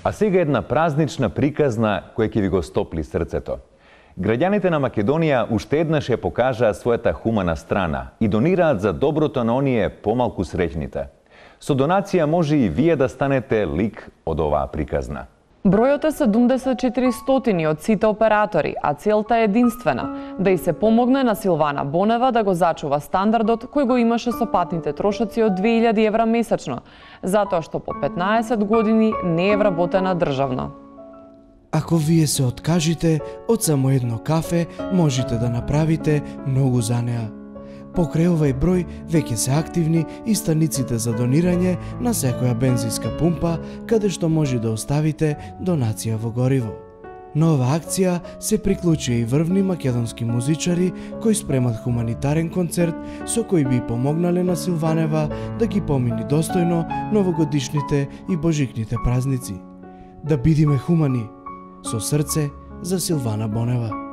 А сега една празнична приказна која ќе ви го стопли срцето. Граѓаните на Македонија уште еднаш ја покажаа својата хумана страна и донираат за доброто на оние помалку среќните. Со донација може и вие да станете лик од оваа приказна. Бројот е 7400 од сите оператори, а целта е единствена – да и се помогне на Силвана Бонева да го зачува стандардот кој го имаше со патните трошоци од 2000 евра месечно, затоа што по 15 години не е вработена државно. Ако вие се откажите од само едно кафе, можете да направите многу за неа. Покрај овај број веќе се активни и станиците за донирање на секоја бензинска пумпа, каде што може да оставите донација во гориво. На оваа акција се приклучија и врвни македонски музичари кои спремат хуманитарен концерт со кој би помогнале на Силванева да ги помини достојно новогодишните и божикните празници. Да бидиме хумани, со срце за Силвана Бонева.